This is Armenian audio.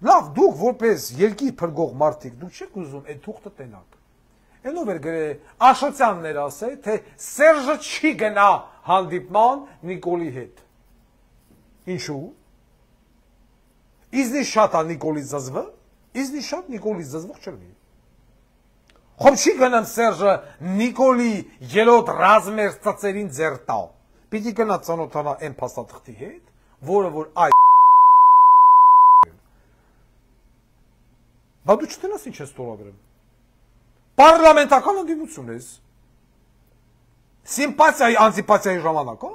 Լավ, դուք որպես երկիր փրկող մարդիկ, դուք չեք ուզում այդ թուղթը տենաք։ Այնով էր Աշոտյաններ ասել, թե Սերժը չի գնա հանդիպման Նիկոլի հետ։ Ինչու։ Իզնի շատ է Նիկոլի զզվը, իզնի շատ Նիկոլի զզվող չլինի։ Խոմ չի գնամ Սերժը Նիկոլի ելոտ ռազմեր ծծերին ձեր տա։ Պիտի գնա ծանոթանա այն փաստաթղթի հետ, որը որ այ Բա դու չտենաս ինչ ես ստորագրում։ Պարլամենտական ընդդիմություն ես։ Սիմպաթիայի, անտիպաթիայի ժամանակ, հա։